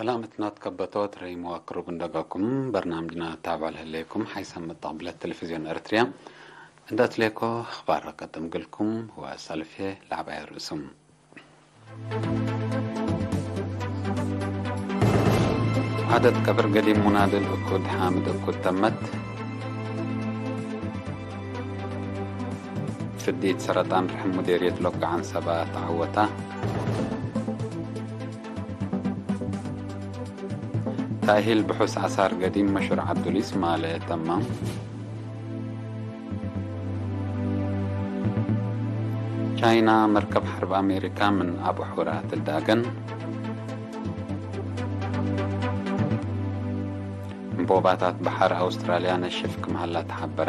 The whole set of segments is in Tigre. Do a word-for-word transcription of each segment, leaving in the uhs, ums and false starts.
ሰላመትና ትከበቶት ረይም ወቅሩብ እንደገኩም በርናምጅና ታብዖ ለህሌኩም ሓይሰ ምጣቅብለት ቴሌቪዝዮን ኤረትርያ እንደ እትሌኮ አኽባር ቀድም ግልኩም ወሰልፌ ለዐባይ ርእሱም። ዓደት ቀብር ገዲም ሙናድል እኩድ ሓምድ እኩድ ተመት። ፍዲት ሰረጣን ርሕም ሙዴርየት ሎግ ዐንሰባ ተዐወታ። ታእሂል ብሑስ አሳር ገዲም መሹር ዐብዱሊስ ማለ ተማም። ቻይና መርከብ ሐርብ አሜሪካ ምን አቡሑራ ትዳገን። እንቦባታት በሐር አውስትራልያ ነሽፍ ክም ሀላ ተሐበረ።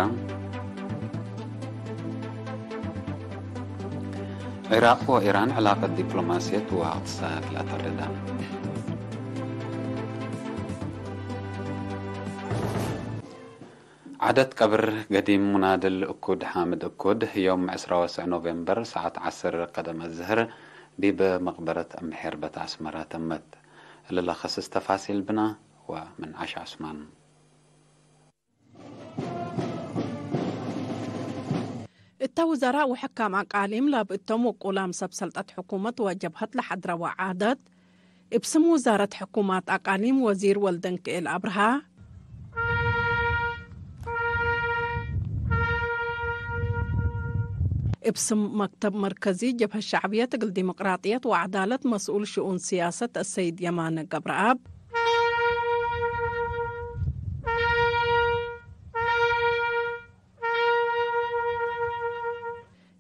ዒራቅ ወኢራን ዕላቀት ዲፕሎማስየት ወእቅትሳድ ለአተርዳ። ዓደት ቀብር ገዲም ሙናድል እኩድ ሓምድ እኩድ፣ ዮም ዕስራ ወሰዕ ኖቬምበር ሰዓት ዐስር ቀደም አዝህር ዲብ መቅበረት እምሔርበት አስመራ ተመት። እሊ ለከስስ ተፋሲል ብና ወምን ዐሽ ዑስማን። እተ ውዘራእ ወሕካም አቃሊም ላብ እቶም ውቁላም ሰብ ሰልጠት ሕኩመት ወጀብሀት ለሐድረወ ዓደት፣ እብ ስም ውዛረት ሕኩማት አቃሊም ወዚር ወልደንክኤል አብርሃ፣ እብ ስም መክተብ መርከዚ ጀብሀት ሸዕብየት እግል ዲሞቅራጥየት ወዐዳለት መስኡል ሽኡን ስያሰት አሰይድ የማነ ገብረአብ፣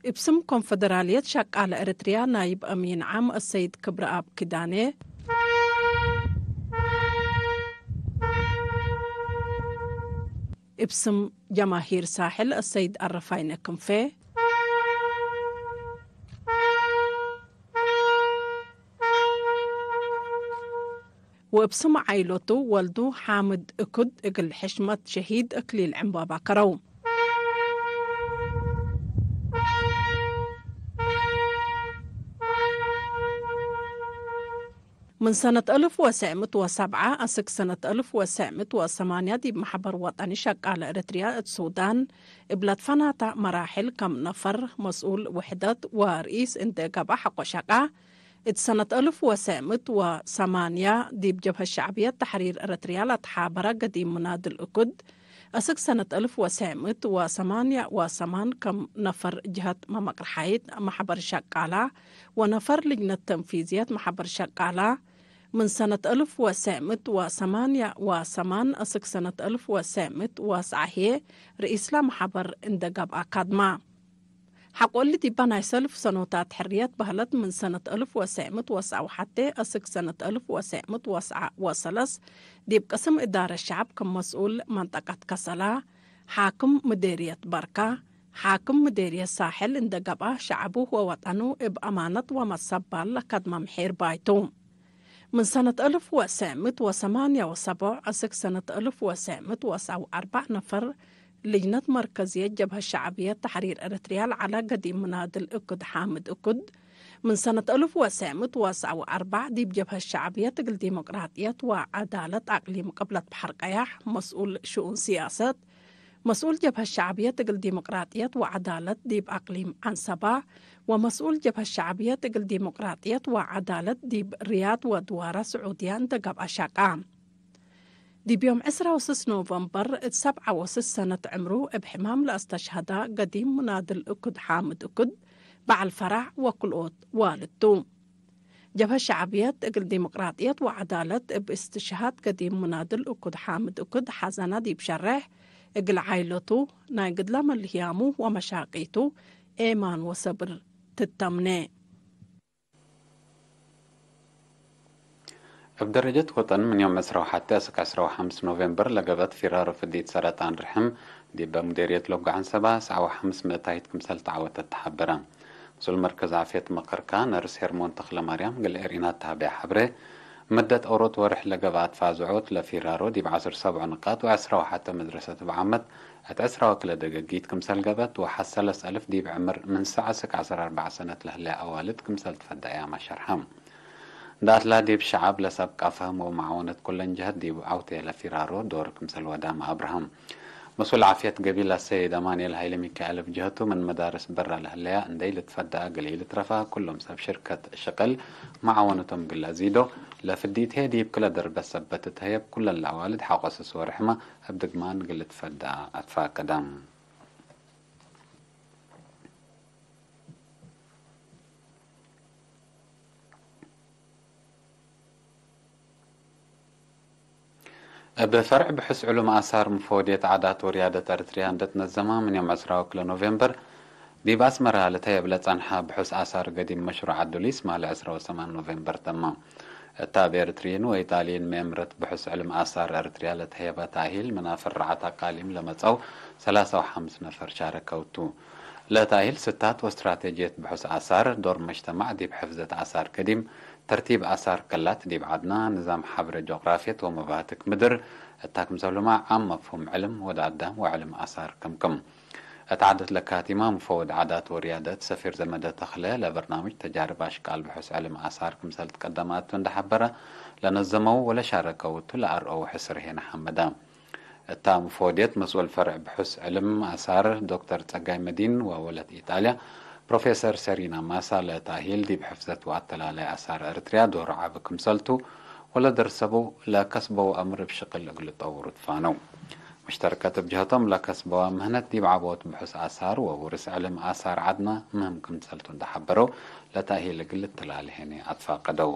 እብ ስም ኮንፈደራልየት ሸቃለ ኤረትርያ ናይብ አሚን ዓም አሰይድ ክብረአብ ኪዳኔ፣ እብ ስም ጀማሂር ሳሕል አሰይድ አረፋይነ ክንፌ፣ ወእብ ስም ዓይሎቱ ወልዱ ሓምድ እኩድ እግል ሕሽመት ሸሂድ እክሊል ዕምባባ ከረው። ምን ሰነት አልፍ ወሰዕ ምእት ወሰብዓ አስክ ሰነት አልፍ ወሰዕ ምእት ወሰማንያ ዲብ መሕበር ወጠኒ ሸቃለ ኤረትርያ እት ሱዳን እብ ለትፈናተ መራሕል ከም ነፈር መስኡል ውሕደት ወርኢስ እንዴ ገብአ ሐቆ ሸቃ፣ እት ሰነት አልፍ ወሰዕ ምእት ወሰማንያ ዲብ ጀብሀት ሸዕብየት ተሕሪር ኤረትርያ ለተሓበረ ገዲም ሙናድል እኩድ፣ አስክ ሰነት አልፍ ወሰዕ ምእት ወሰማንያ ወሰማን ከም ነፈር ጀሀት መመቅርሓይት መሕበር ሸቃላ ወነፈር ልጅነት ተንፊዝየት መሕበር ሸቃላ፣ ምን ሰነት አልፍ ወሰዕ ምእት ወሰማንያ ወሰማን አስክ ሰነት አልፍ ወሰዕ ምእት ወሰዓ ህዬ ርኢስ ለመሕበር እንዴ ገብአ ካድማ። ሐቆ እሊ ዲበ ናይ ሰልፍ ሰኖታት ሕርየት በህለት ምን ሰነት አልፍ ወሰዕ ምእት ወሰዓ ወሐቴ አስክ ሰነት አልፍ ወሰዕ ምእት ወሰዓ ወሰለስ ዲብ ቅስም እዳረት ሸዐብ ክም መስኡል መንጠቀት ከሰላ፣ ሓክም ምዴርየት በርካ፣ ሓክም ምዴርየት ሳሕል እንዴ ገብአ ሸዐቡ ወወጠኑ እብ አማነት ወመሰባል ለከድመ ምሒር ባይቱ። ምን ሰነት አልፍ ወሰዕ ምእት ወሰማንያ ወሰቦዕ አስክ ሰነት አልፍ ወሰዕ ምእት ወሰዓ ወአርበዕ ነፈር ልጅነት መርከዝየት ጀብሀት ሸዕብየት ተሕሪር ኤረትርያ ለዐለ ገዲም ምናድል እኩድ ሓምድ እኩድ፣ ምን ሰነት አልፍ ወሰዕ ምእት ወሰዓ ወአርበዕ ዲብ ጀብሀት ሸዕብየት እግል ዲሞቅራጥየት ወዐዳለት አቅሊም ቅብለት በሐር ቀያሕ መስኡል ሽኡን ስያሰት፣ መስኡል ጀብሀት ሸዕብየት እግል ዲሞቅራጥየት ወዐዳለት ዲብ አቅሊም ዐንሰባ፣ ወመስኡል ጀብሀት ሸዕብየት እግል ዲሞቅራጥየት ወዐዳለት ዲብ ሪያድ ወድዋረ ስዑድያ እንዴ ገብአ ሸቃ። ዲብ ዮም ዕስራ ወስስ ኖቨምበር እት ሰብዓ ወስስ ሰነት ዕምሩ እብ ሕማም ለአስተሽሀዳ ገዲም ሙናድል እኩድ ሓምድ እኩድ በዐል ፈራዕ ወክልኦት ዋልድ ቱ። ጀብሀት ሸዕብየት እግል ዲሞቅራጥየት ወዐዳለት እብ እስትሽሃድ ገዲም ሙናድል እኩድ ሓምድ እኩድ ሐዘነ ዲብ ሸሬሕ፣ እግል ዓይለቱ ናይ ግድለ መልህያሙ ወመሻቂቱ ኤማን ወሰብር ትተምኔ። እብ ደረጀት ወጠን ምን ዮም ዕስራ ወሐቴ አስክ ዕስራ ወሐምስ ኖቬምበር ለገብአት ፊራሮ ፍዲት ሰረጣን ርሕም ዲበ ሙዴርየት ሎግ ዐንሰባ ሰዓ ወሐምስ ምእታይት ክምሰል ተዐወተት ተሐበረ። መስኡል መርከዝ ዓፍየት መቀርካ ነርስ ሄርሞን ተክለማርያም እግል ኤርኢናት ተሀቤ ሐብሬ፣ መደት ኦሮት ወርሕ ለገብአት ፋዝዖት ለፊራሮ ዲብ ዐስር ሰብዑ ንቃጥ ወዐስራ ወሐቴ መድረሰት እብ ዓመት እት ዕስራ ወክልኤ ደገጊት ክምሰል ገብአት ወሐሰለስ አልፍ ዲብ ዕምር ምን ሰዕ አስክ ዐስር አርበዕ ሰነት ለህሌ አዋልድ ክምሰል ትፈደአያመ ሸርሐ። ዳትላ ዲብ ሸዐብ ለሰብቃ ፈህም ወመዓወነት ኩለን ጀሀት ዲብ ዐውቴ ለፊራሮ ዶር ክምሰል ወዳም አብርሃም። መስኡል ዓፍየት ገቢል አሰይድ አማንኤል ሀይለ ሚካኤል እብ ጀሀቱ፣ ምን መዳርስ በራ ለህለያ እንዴ ኢልትፈደአ እግል ኢልትረፈ፣ ኩሎም ሰብ ሽርከት ሽቅል መዓወነቶም እግል አዚዶ፣ ለፍዲት ህዬ ዲብ ክለ ደርበት ሰበት ትትሀየብ፣ ኩለን ለአዋልድ ሐቆ ስስ ወርሕመ እብ ድግማን እግል ልትፈደአ አትፋቀደ። እብ ፈርዕ ብሑስ ዕሉም አሳር ምፎድየት ዓዳት ወርያደት ኤረትርያ እንዴ ትነዘመ፣ ምን ዮም ዕስራ ወክልኤ ኖቬምበር ዲብ አስመረ ልትሀየብ ለጸንሐ ብሑስ አሳር ገዲም መሽሩዕ አዱሊስ ማለ ዕስራ ወሰማን ኖቬምበር ተመ። እታ እብ ኤረትርይን ወኢጣልይን መኤምረት ብሑስ ዕልም አሳር ኤረትርያ ለተህየበ ተእሂል፣ ምን አፍርዓት አቃሊም ለመጽአው ሰላሳ ወሐምስ ነፈር ሻረከው ቱ። ለተእሂል ስታት ወስትራቴጅየት ብሑስ አሳር፣ ዶር መጅተማዕ ዲብ ሕፍዘት አሳር ገዲም፣ ተርቲብ አሳር ከላት ዲብ ዐድና፣ ንዛም ሐብረ ጆግራፍየት ወመባትክ ምድር፣ እታ ክምሰልሁመ ዓም መፍሁም ዕልም ወድ አዳም ወዕልም አሳር ክምክም። እት ዓደት ለካቲማ ምፈወድ ዓዳት ወርያደት ሰፊር ዘመደ ተኽለ ለበርናምጅ ተጃርብ አሽቃል ብሑስ ዕልም አሳር ክምሰል ትቀደማቱ እንደ ሐበረ፣ ለነዘመው ወለሻረከው እቱ ለአርአው ሕስር ሄነ ሐመደ። እታ ምፈወድየት መስኡል ፈርዕ ብሑስ ዕልም አሳር ዶክተር ጸጋይ መዲን ወወለት ኢጣልያ ፕሮፌሰር ሰሪና ማሳ ለታሂል ዲብ ሕፍዘት ወአተላላይ አሳር ኤረትርያ ዶር ዐቢ ክምሰልቱ ወለደርሰቡ ለከስበው አምር እብ ሽቅል እግል ልጠውሩ ትፋነው። ሙሽተርከት እብ ጀህቶም ለከስበዋ ምህነት ዲብ ዐቦት ብሑስ አሳር ወውርስ ዕልም አሳር ዐድና ምህም ክምሰልቱ እንደ ሐበረው፣ ለተእሂል እግል ልትላሊ ሄኔ አትፋቀደው።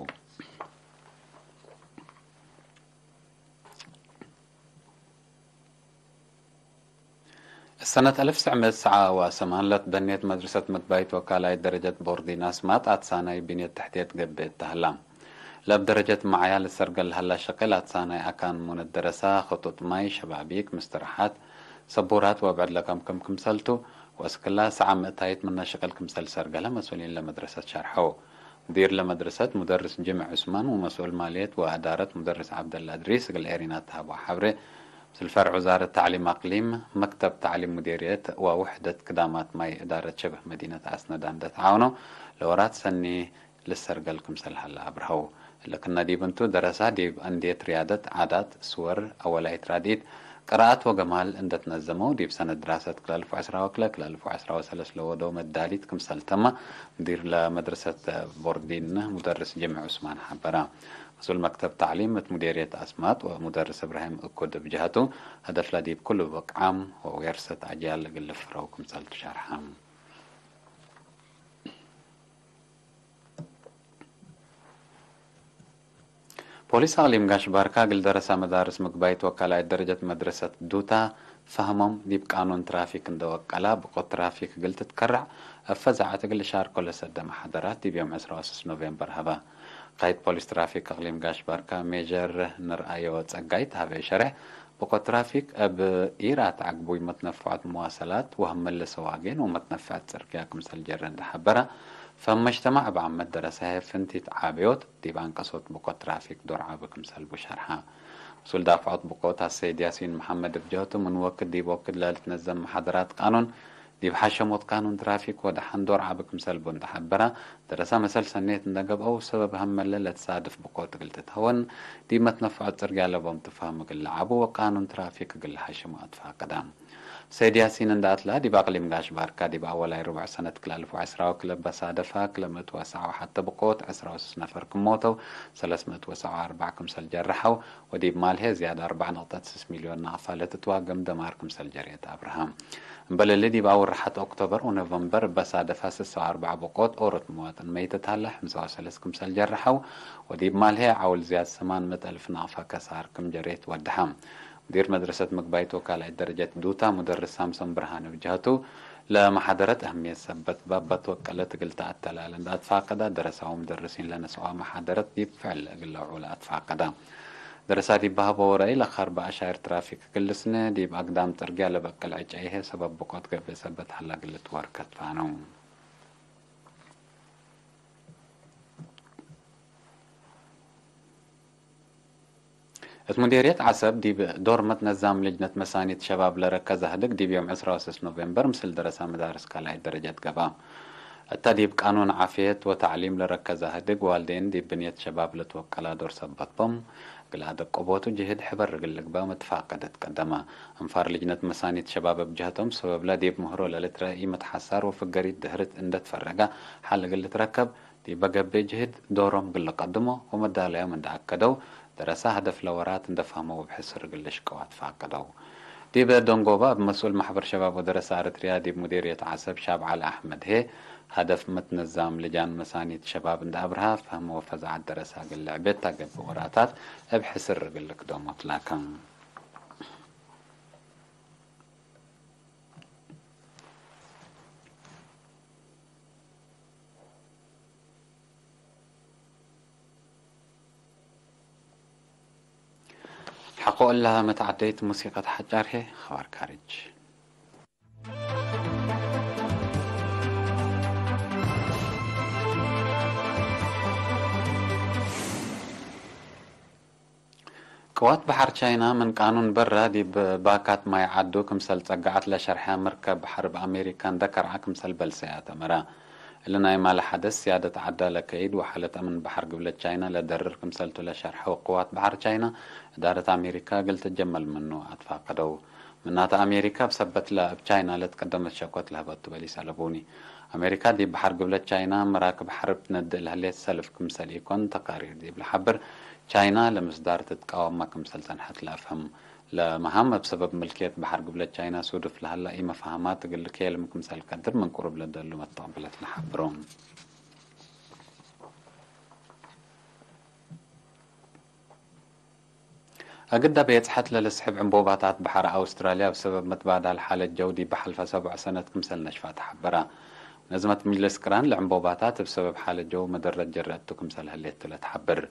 ሰነት አልፍ ትስዕ ምእት ሰዓ ወሰማን ለትበኔት መድረሰት መግባይት ወካላይት ደረጀት ቦርዲን አስማጥ አትሳናይ ብንየት ተሕትየት ገብእ እተ ሀላ። ለእብ ደረጀት መዓያ ልሰርገል ለሀላ ሸቅል አትሳናይ አካን ሙነት ደረሳ፣ ክጡጥ ማይ፣ ሸባቢክ፣ ምስትርሓት፣ ሰቡራት ወብዕድ ለከምክም ክምሰልቱ፣ ወእስክላ ሰዓ ምእታይት ምነ ሽቅል ክምሰል ሰርገለ መስኡሊን ለመድረሰት ሸርሐው። ሙዲር ለመድረሰት ሙደርስ ጅምዕ ዑስማን ወመስኡል ማልየት ወአዳረት ሙደርስ ዐብደላ እድሪስ እግል ኤሪና ተሀበው ሐብሬ፣ ምስል ፈርዕ ውዛረት ተዕሊም አቅሊም፣ መክተብ ተዕሊም ሙዴርየት ወውሕደት ክዳማት ማይ እዳረት ሸበህ መዲነት አስነዳ እንደ ተዓውነው፣ ለወራት ሰኒ ልሰርገል ክምሰል ሀለ አብርሀው። እለ ክነ ዲብ እንቱ፣ ደረሳ ዲብ አንድየት ርያደት፣ ዓዳት፣ ስወር፣ አወላይት ራድኢት፣ ቅራአት ወገማል እንደ ትነዘመው፣ ዲብ ሰነት ድራሰት ክለ አልፍ ወዐስራ ወክልኤ ክለ አልፍ ወዐስራ ወሰለስ ለወደው መዳሊት ክምሰል ተመ፣ ሙዲር ለመድረሰት ቦርዲን ሙደርስ ጅምዕ ዑስማን ሐበረ። መስኡል መክተብ ተዕሊም እት ሙዴርየት አስማጥ ወሙደርስ እብራሂም እኩድ እብ ጀሀቱ፣ ሀደፍለ ዲብ ኩሉ ብቅዓም ወዌርሰት አጅያል እግል ልፍረው ክምሰል ትሸርሐ። ፖሊስ አቅሊም ጋሽ ባርካ እግል ደረሳ መዳርስ ምግባይት ወካላይት ደረጀት መድረሰት ዱታ ፈህሞም ዲብ ቃኑን ትራፊክ እንደ ወቀላ፣ ብቆት ትራፊክ እግል ትትከረዕ እብ ፈዛዐት እግል ልሻርኮ ለሰደ መሓደራት ዲብ ዮም ዕስራ ወስስ ኖቬምበር ሀበ። ቃይድ ፖሊስ ትራፊክ አቅሊም ጋሽ ባርካ ሜጀር ንርአዮ ጸጋይ ተሀበ ሸሬሕ፣ ብቆት ትራፊክ እብ ኢራት ዐግቡይ መትነፈዖት መዋሰላት ወህምል ሰዋጌን ወመትነፈዐት ጽርግያ ክምሰል ጀረ እንደ ሐበረ፣ ፈም መጅተማዕ እብ ዓመት ደረሰ ህዬ ፍንቲት ዓብዮት ዲብ አንቀሶት ብቆት ትራፊክ ዶር ዐቢ ክምሰል ቡ ሸርሐ። መስኡል ዳፍዖት ብቆት አሰይድ ያሲን መሐመድ እብ ጀህቱ፣ ምን ወክድ ዲብ ወክድ ለልትነዘም መሓደራት ቃኑን፣ ዲብ ሐሸሞት ቃኑን ትራፊክ ወደሐን ዶር ዐቢ ክምሰል ቡ እንደ ሐበረ፣ ደረሰ መሰል ሰኔት እንደ ገብአው፣ ሰበብ ሀመለ ለትሳድፍ ብቆት እግል ትትሀወን፣ ዲብ መትነፈዖት ጽርግያ ለቦም ትፋህም እግል ለዐቡ ወቃኑን ትራፊክ እግል ለሐሽሙ አትፋቀደ። ሰይድ ያሲን እንደ አትላ፣ ዲብ አቅሊም ጋሽ ባርካ ዲብ አወላይ ርቡዕ ሰነት ክል አልፍ ወዐስራ ወክልኤ በሳደፈ ክለ ምእት ወሰዓ ወሐተ ብቆት ዐስራ ወስስ ነፈር ክም ሞተው፣ ሰለስ ምእት ወሰዓ ወአርበዕ ክምሰል ጀረሐው፣ ወዲብ ማልሄ ዝያድ አርበዕ ነቅጠት ስስ ሚልዮን ናቅፋ ለትትዋገም ደማር ክምሰል ጀርየት አብርሃም። እምበል እሊ፣ ዲብ አውርሐት ኦክቶበር ወኖቨምበር በሳደፈ ስሳ ወአርበዕ ብቆት ኦሮት መዋጥን መይተት ሀለ፣ ሕምሳ ወሰለስ ክምሰል ጀረሐው፣ ወዲብ ማልሄ ዐውል ዝያድ ሰማን ምእት አልፍ ናቅፋ ከሳር ክም ጀርየት ወደሐ። ሙዲር መድረሰት ምግባይት ወካላይት ደረጀት ዱታ ሙደርስ ሳምሶን ብርሃነ ብጀህቱ፣ ለመሓደረት አህምየት ሰበት ባብ በትወቀለት እግል ተአተላለ እንደ አትፋቀዳ፣ ደረሳው ሙደርሲን ለነስአዋ መሓደረት ዲብ ፍዕል እግል ለውዑለ አትፋቀዳ። ደረሳ ዲብ በሀበው ረአይ፣ ለከርበ አሻይር ትራፊክ እግል ልስነ፣ ዲብ አግዳም ጽርግያ ለበቅል ዕጨይ ህዬ ሰበብ ብቆት ገብእ ሰበት ሀላ እግል ልትወር ከትፋነው። እት ሙዴርየት ዐሰብ ዲብ ዶር መትነዛም ልጅነት መሳኒት ሸባብ ለረከዘ ህድግ ዲብ ዮም ዕስራ ወስስ ኖቬምበር ምስል ደረሳ መዳርስ ካልኣይት ደረጀት ገብአ። እተ ዲብ ቃኑን ዓፍየት ወተዕሊም ለረከዘ ህድግ ዋልዴን ዲብ ብንየት ሸባብ ለትወቀላ ዶር ሰበት ቦም፣ እግል አደቀቦቱ ጅህድ ሕበር እግል ልግበእ መትፋቀደት ቀደመ። እንፋር ልጅነት መሳኒት ሸባብ እብ ጀህቶም፣ ሰበብለ ዲብ ምህሮ ለልትረአ ኢመትሐሳር ወፍገሪት ድህርት እንደ ትፈረገ ሐል እግል ልትረከብ፣ ዲበ ገብእ ጅህድ ዶሮም እግል ልቀድሞ ወመዳለዮም እንደ አከደው፣ ደረሰ ሀደፍ ለወራት እንደ ፈህመው እብ ሕስር እግል ልሽቀው አትፋቀደው። ዲበ ደንጎባ እብ መስኡል ማሕበር ሸባብ ወደረሰ አረትርያ ዲብ ሙዲርየት ዐሰብ ሻብ ዐሊ አሕመድ ህዬ፣ ሀደፍ መትነዛም ልጃን መሳኒት ሸባብ እንደ አብርሃ፣ ፈህም ወፈዛዐት ደረሰ እግል ልዕቤት ታ ገብእ ወራታት እብ ሕስር እግል ልክደሞ ትላከም። ሐቆ እለ መትዐደይት ሙሲቀት ሐጫር ህዬ፣ ኸባር ካርጅ። ቅዋት በሐር ቻይና ምን ቃኑን በረ ዲብ ባካት ማይ ዐዱ ክምሰል ጸገዐት ለሸርሐ መርከብ ሐርብ አሜሪካ እንደ ከርዐ ክምሰል በልሰያ ተመረ። እሊ ናይ ማለ ሐደስ፣ ስያደት ዐዳ ለከይድ ወሓለት አምን በሐር ግብለት ቻይና ለደርር ክምሰልቱ ለሸርሐው ቅዋት በሐር ቻይና፣ እዳረት አሜሪካ እግል ትጀመል ምኑ አትፋቀደው። ምናተ አሜሪካ እብ ሰበትለ እብ ቻይና ለትቀደመት ሸኮት ለህበቱ በሊስ አለቡኒ። አሜሪካ ዲብ በሐር ግብለት ቻይና መራክብ ሐርብ ትነድእ ለህሌት ሰልፍ ክምሰል ኢኮን ተቃሪር ዲብ ለሐብር፣ ቻይና ለምስዳር ትትቃወመ ክምሰል ጸንሐት ለአፍህም። ለመሃም እብ ሰበብ ምልክየት በሐር ግብለት ቻይና ሱዱፍ ለሀላ ኢመፋህማት እግል ልኬልም ክምሰል ቀድር ምን ቅሩብ ለደሉ መተቅብለት ለሐብሮ። እግደ ቤጽሐት ለልስሕብ ዕንቦባታት በሐር አውስትራልያ እብ ሰበብ መትባዳል ሓለት ጀው ዲብ ሐልፈ ሰቡዕ ሰነት ክምሰል ነሽፋ ተሐበረ። መነዘመት ምጅልስ ቅራን ለዕንቦባታት እብ ሰበብ ሓለት ጀው መደረት ጀረ እቱ ክምሰል ህሌት ቱ ለትሐብር።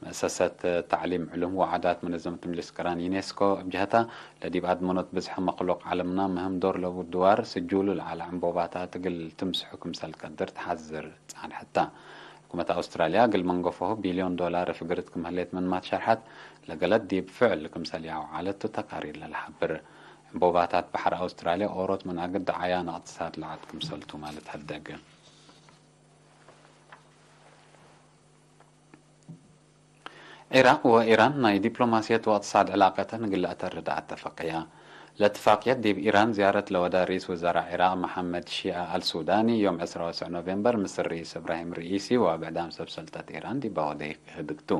መእሰሰት ተዕሊም ዕሉም ወዓዳት መነዘመት ምጅልስ ቅራን ዩኔስኮ እብ ጀህታ፣ ለዲብ አድመኖት ብዝሐ መክሉቅ ዐለምና ምህም ዶር ለቡ ድዋር ስጁሉ ለዐለ ዕንቦባታት እግል ትምስሑ ክምሰል ቀድር ተሐዝር ጻንሐት ተ። ሕኩመት አውስትራልያ እግል መንገፎሁ ቢልዮን ዶላር ፍግርት ክም ህሌት ምንማ ትሸርሐት፣ ለገለት ዲብ ፍዕል ክምሰል ያውዓለት ቱ ተቃሪር ለለሐብር። ዕንቦባታት በሐር አውስትራልያ ኦሮት ምን አግድ ደዓያን እቅትሳድ ለዐድ ክምሰል ቱ ማለት ሀደግ። ዒራቅ ወኢራን ናይ ዲፕሎማስየት ወእቅትሳድ ዕላቀተን እግል ለአተርድ አተፈቀያ። ለእትፋቅየት ዲብ ኢራን ዝያረት ለወደ ርኢስ ውዘራእ ዒራቅ መሐመድ ሺአ አልሱዳኒ፣ ዮም ዕስራ ወሰዕ ኖቬምበር ምስል ርኢስ እብራሂም ርኢሲ ወብዕዳም ሰብ ሰልጠት ኢራን ዲብ አወደይ ህድግ ቱ።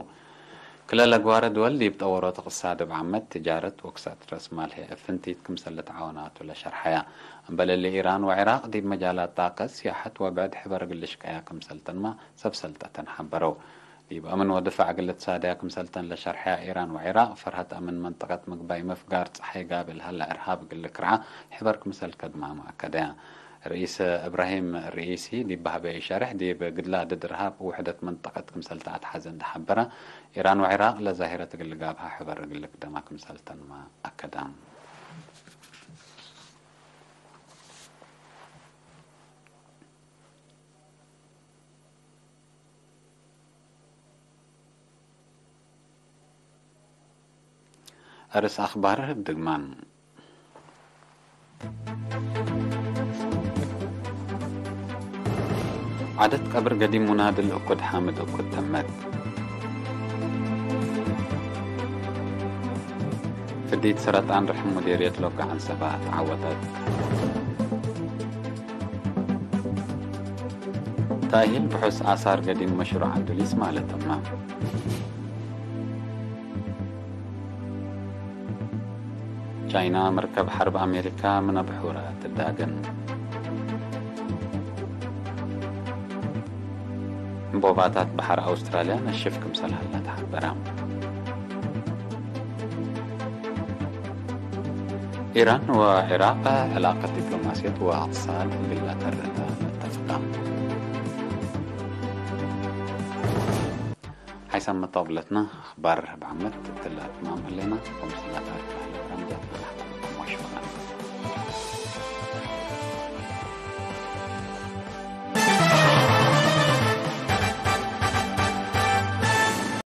ክለ ለግዋረ ድወል ዲብ ጠወሮት እቅትሳድ እብ ዓመት፣ ትጃረት ወክሳት ረስማል ህይ እብ ፍንቲት ክምሰል ልትዓወና ቱ ለሸርሐያ። እምበል እሊ ኢራን ወዒራቅ ዲብ መጃላት ጣቀት፣ ሲያሐት ወብዕድ ሕበር እግል ልሽቀያ ክምሰልተንማ ሰብ ሰልጠተን ሐበረው። ዲብ አምን ወድፋዕ እግል ልትሳደያ ክምሰልተን ለሸርሐያ ኢራን ወዒራቅ፣ ፈርሀት አምን መንጠቀት ምግባይ መፍጋር ጸሓይ ጋብእ ለሀለ እርሃብ እግል ልክርዓ ሕበር ክምሰል ከድማመ አከደያ። ርኢስ እብራሂም ርኢሲ ዲብ በህበዩ ሸርሕ፣ ዲብ ግድላ ድድ እርሃብ ውሕደት መንጠቀት ክምሰል ተአትሐዘ እንዴ ሐበረ፣ ኢራን ወዒራቅ ለዛሂረት እግል ልጋብሃ ሕበር እግል ልክደማ ክምሰልተንመ አከደ። አርስ አክባር ድግማን። ዓደት ቀብር ገዲም ሙናድል እኩድ ሓምድ እኩድ ተመት። ፍዲት ሰረጣን ርሕም ሙዴርየት ሎጋ ዐንሰባ ተዓወተት። ተእሂል ብሑስ አሳር ገዲም መሽሩዕ አዱሊስ ማለት እመ። ቻይና መርከብ ሐርብ አሜሪካ ምነ ብሑረ ትዳገን። ዕንቦባታት በሐር አውስትራልያ ነሽፍ ክምሰል ሀላ ተሐበረ። ኢራን ወዒራቅ ዕላቀት ዲፕሎማስየት ወእቅትሳድ እግል ለተርተ መተፍቃም። ሓይሳም መጣብለትና አኽባር እብ ዓመት እትለ አትማም ህሌና። ከምስላ ታሪክ ለህለ ፕሮግራም ዛት